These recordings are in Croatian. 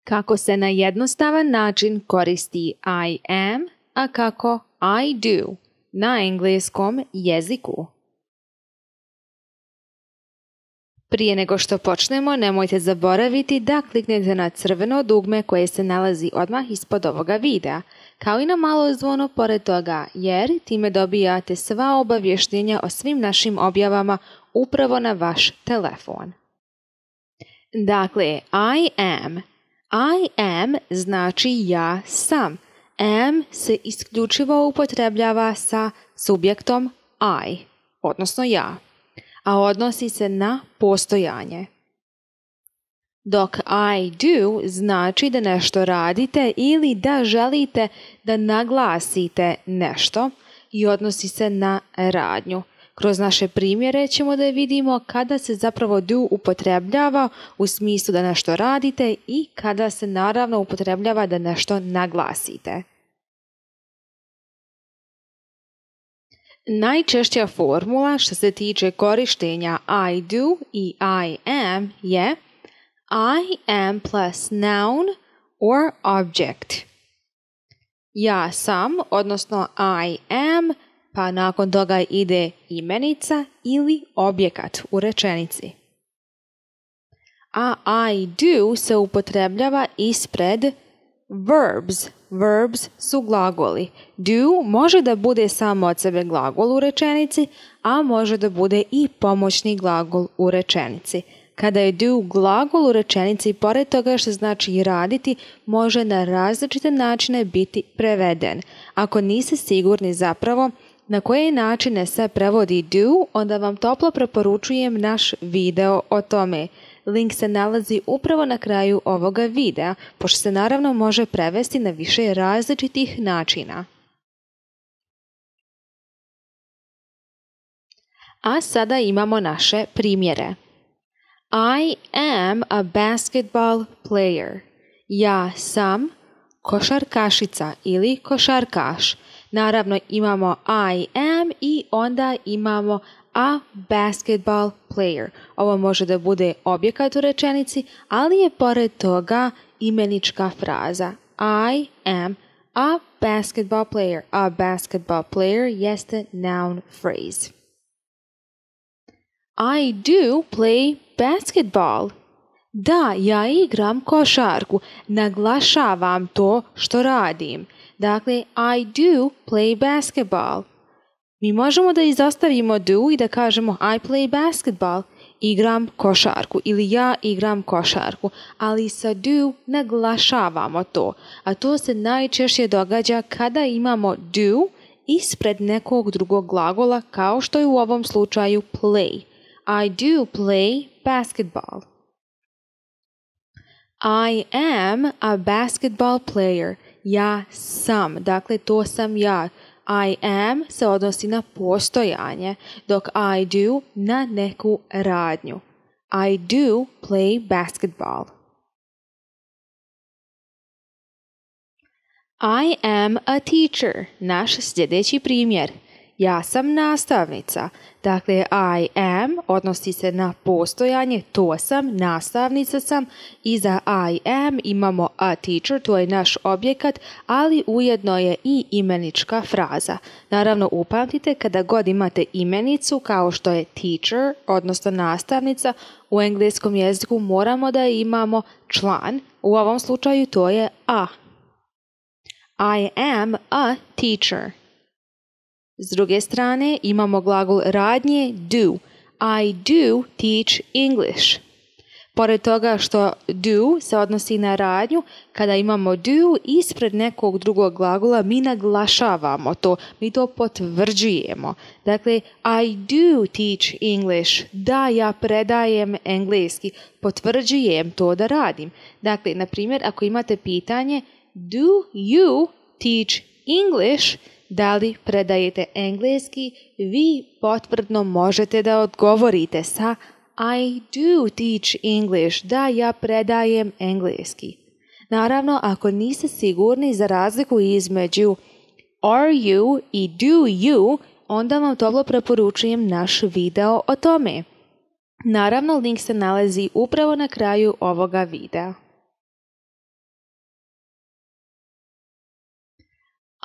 Kako se na jednostavan način koristi I am, a kako I do na engleskom jeziku. Prije nego što počnemo, nemojte zaboraviti da kliknete na crveno dugme koje se nalazi odmah ispod ovoga videa, kao i na malo zvono pored toga, jer time dobijate sva obavještenja o svim našim objavama upravo na vaš telefon. Dakle, I am znači ja sam. Am se isključivo upotrebljava sa subjektom I, odnosno ja, a odnosi se na postojanje. Dok I do znači da nešto radite ili da želite da naglasite nešto i odnosi se na radnju. Kroz naše primjere ćemo da vidimo kada se zapravo do upotrebljava u smislu da nešto radite i kada se naravno upotrebljava da nešto naglasite. Najčešća formula što se tiče korištenja I do i I am je I am plus noun or object. Ja sam, odnosno I am, pa nakon toga ide imenica ili objekat u rečenici. A I do se upotrebljava ispred verbs. Verbs su glagoli. Do može da bude samo od sebe glagol u rečenici, a može da bude i pomoćni glagol u rečenici. Kada je do glagol u rečenici, pored toga što znači raditi, može na različite načine biti preveden. Ako niste sigurni zapravo na koje načine se prevodi do, onda vam toplo preporučujem naš video o tome. Link se nalazi upravo na kraju ovoga videa, pošto se naravno može prevesti na više različitih načina. A sada imamo naše primjere. I am a basketball player. Ja sam košarkašica ili košarkaš. Naravno imamo I am i onda imamo a basketball player. Ovo može da bude objekat u rečenici, ali je pored toga imenička fraza. I am a basketball player. A basketball player jeste noun phrase. I do play basketball. Da, ja igram košarku. Naglašavam to što radim. Dakle, I do play basketball. Mi možemo da izostavimo do i da kažemo I play basketball, igram košarku ili ja igram košarku, ali sa do naglašavamo to, a to se najčešće događa kada imamo do ispred nekog drugog glagola kao što je u ovom slučaju play. I do play basketball. I am a basketball player. Ja sam, dakle to sam ja. I am se odnosi na postojanje, dok I do na neku radnju. I do play basketball. I am a teacher. Naš sljedeći primjer. Ja sam nastavnica. Dakle, I am odnosi se na postojanje, to sam, nastavnica sam. Iza I am imamo a teacher, to je naš objekat, ali ujedno je i imenička fraza. Naravno, upamtite kada god imate imenicu kao što je teacher, odnosno nastavnica, u engleskom jeziku moramo da imamo član. U ovom slučaju to je a. I am a teacher. S druge strane imamo glagol radnje do. I do teach English. Pored toga što do se odnosi na radnju, kada imamo do ispred nekog drugog glagola mi naglašavamo to, mi to potvrđujemo. Dakle, I do teach English. Da, ja predajem engleski. Potvrđujem to da radim. Dakle, na primjer, ako imate pitanje do you teach English, da li predajete engleski, vi potvrdno možete da odgovorite sa I do teach English. Da, ja predajem engleski. Naravno, ako niste sigurni za razliku između are you i do you, onda vam toplo preporučujem naš video o tome. Naravno, link se nalazi upravo na kraju ovoga videa.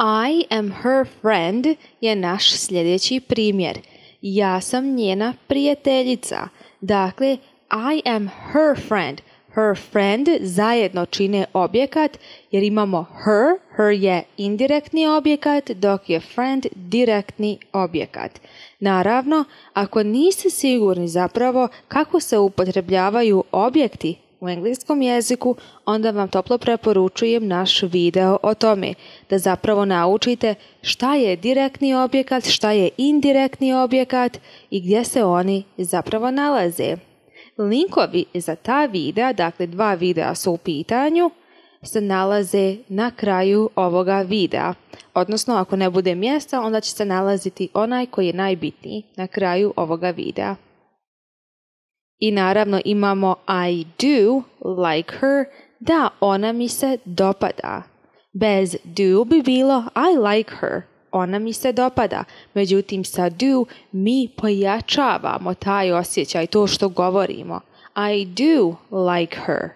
I am her friend je naš sljedeći primjer. Ja sam njena prijateljica. Dakle, I am her friend. Her friend zajedno čine objekat jer imamo her. Her je indirektni objekat dok je friend direktni objekat. Naravno, ako niste sigurni zapravo kako se upotrebljavaju objekti u engleskom jeziku, onda vam toplo preporučujem naš video o tome, da zapravo naučite šta je direktni objekat, šta je indirektni objekat i gdje se oni zapravo nalaze. Linkovi za ta videa, dakle 2 videa su u pitanju, se nalaze na kraju ovoga videa. Odnosno, ako ne bude mjesta, onda će se nalaziti onaj koji je najbitniji na kraju ovoga videa. I naravno imamo I do like her, da, ona mi se dopada. Bez do bi bilo I like her, ona mi se dopada. Međutim, sa do mi pojačavamo taj osjećaj, to što govorimo. I do like her.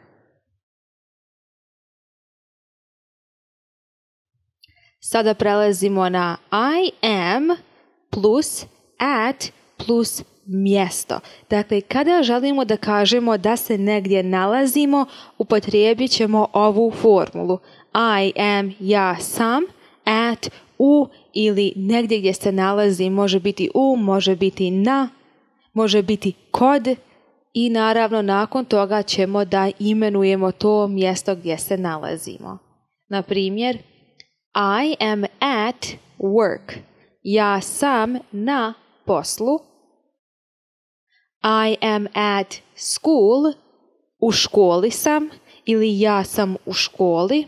Sada prelazimo na I am plus at plus mjesto. Dakle, kada želimo da kažemo da se negdje nalazimo, upotrijebit ćemo ovu formulu. I am, ja sam, at, u ili negdje gdje se nalazi, može biti u, može biti na, može biti kod i naravno nakon toga ćemo da imenujemo to mjesto gdje se nalazimo. Na primjer, I am at work. Ja sam na poslu. I am at school. U školi sam ili ja sam u školi.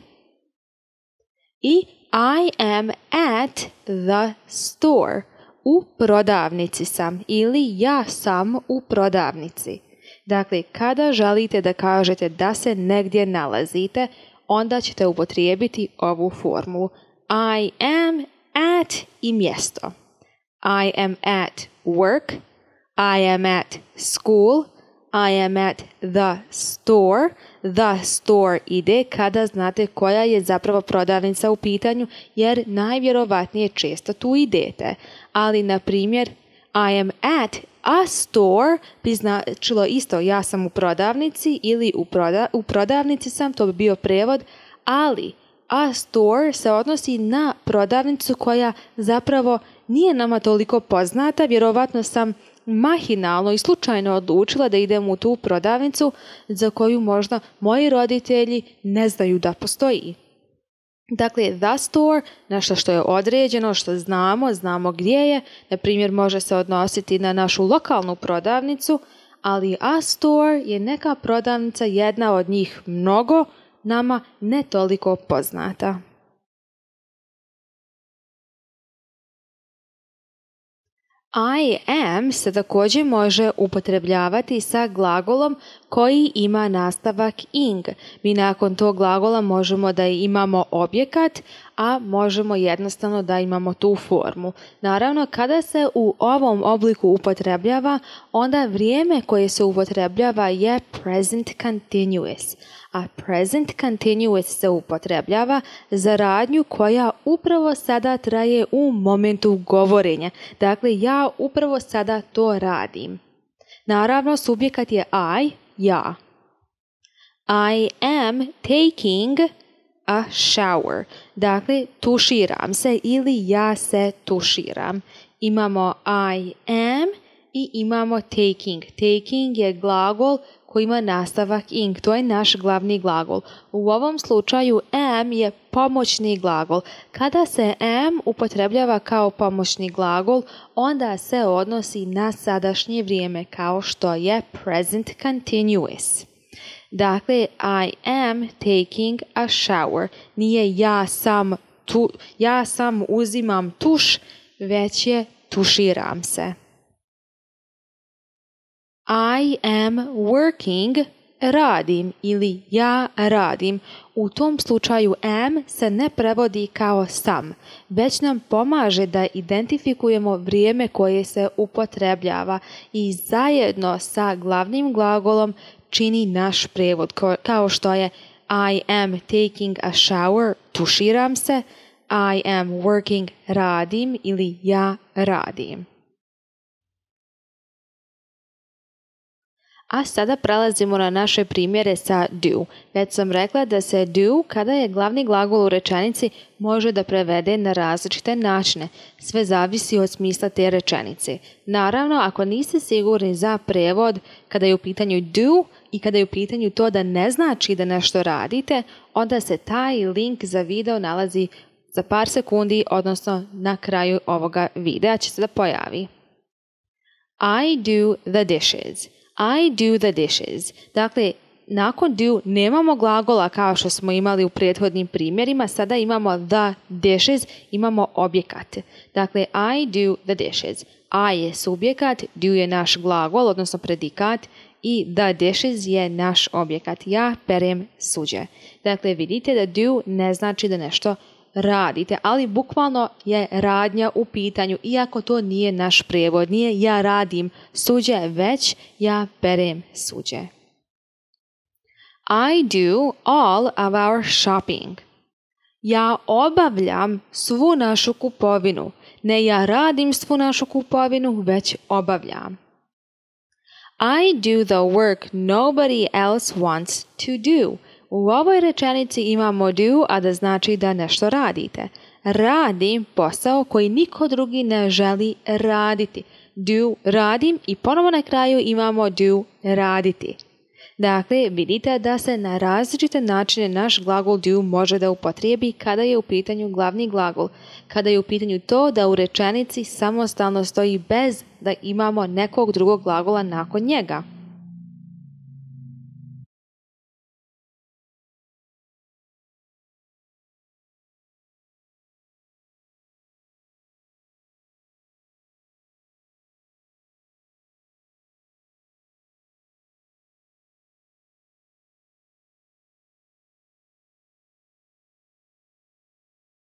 I I am at the store. U prodavnici sam ili ja sam u prodavnici. Dakle, kada želite da kažete da se negdje nalazite, onda ćete upotrijebiti ovu formulu. I am at i mjesto. I am at work. I am at school. I am at the store. The store ide kada znate koja je zapravo prodavnica u pitanju, jer najvjerovatnije često tu idete. Ali, na primjer, I am at a store bi značilo isto ja sam u prodavnici ili u prodavnici sam, to bi bio prevod, ali a store se odnosi na prodavnicu koja zapravo nije nama toliko poznata. Vjerovatno sam mahinalno i slučajno odlučila da idem u tu prodavnicu za koju možda moji roditelji ne znaju da postoji. Dakle, the store, nešto što je određeno, što znamo gdje je, na primjer može se odnositi na našu lokalnu prodavnicu, ali a store je neka prodavnica, jedna od njih mnogo, nama ne toliko poznata. I am se također može upotrebljavati sa glagolom koji ima nastavak ing. Mi nakon tog glagola možemo da imamo objekat, a možemo jednostavno da imamo tu formu. Naravno, kada se u ovom obliku upotrebljava, onda vrijeme koje se upotrebljava je present continuous. A present continuous se upotrebljava za radnju koja upravo sada traje u momentu govorenja. Dakle, ja upravo sada to radim. Naravno, subjekat je I, ja. I am taking a shower. Dakle, tuširam se ili ja se tuširam. Imamo I am i imamo taking. Taking je glagol koji ima nastavak ing. To je naš glavni glagol. U ovom slučaju am je pomoćni glagol. Kada se am upotrebljava kao pomoćni glagol, onda se odnosi na sadašnje vrijeme kao što je present continuous. Dakle, I am taking a shower. Nije ja sam uzimam tuš, već je tuširam se. I am working, radim ili ja radim. U tom slučaju am se ne prevodi kao sam, već nam pomaže da identifikujemo vrijeme koje se upotrebljava i zajedno sa glavnim glagolom čini naš prevod, kao što je I am taking a shower, tuširam se. I am working, radim ili ja radim. A sada prelazimo na naše primjere sa do. Već sam rekla da se do, kada je glavni glagol u rečenici, može da prevede na različite načine. Sve zavisi od smisla te rečenice. Naravno, ako niste sigurni za prevod kada je u pitanju do i kada je u pitanju to da ne znači da nešto radite, onda se taj link za video nalazi za par sekundi, odnosno na kraju ovoga videa će se da pojavi. I do the dishes. I do the dishes. Dakle, nakon do nemamo glagola kao što smo imali u prethodnim primjerima, sada imamo the dishes, imamo objekat. Dakle, I do the dishes. I je subjekat, do je naš glagol, odnosno predikat, i the dishes je naš objekat. Ja perem suđe. Dakle, vidite da do ne znači da nešto radite, ali bukvalno je radnja u pitanju, iako to nije naš prijevod, nije ja radim suđe, već ja perem suđe. I do all of our shopping. Ja obavljam svu našu kupovinu. Ne ja radim svu našu kupovinu, već obavljam. I do the work nobody else wants to do. U ovoj rečenici imamo do, a da znači da nešto radite. Radim posao koji niko drugi ne želi raditi. Do, radim i ponovo na kraju imamo do, raditi. Dakle, vidite da se na različite načine naš glagol do može da upotrijebi kada je u pitanju glavni glagol, kada je u pitanju to da u rečenici samostalno stoji bez da imamo nekog drugog glagola nakon njega.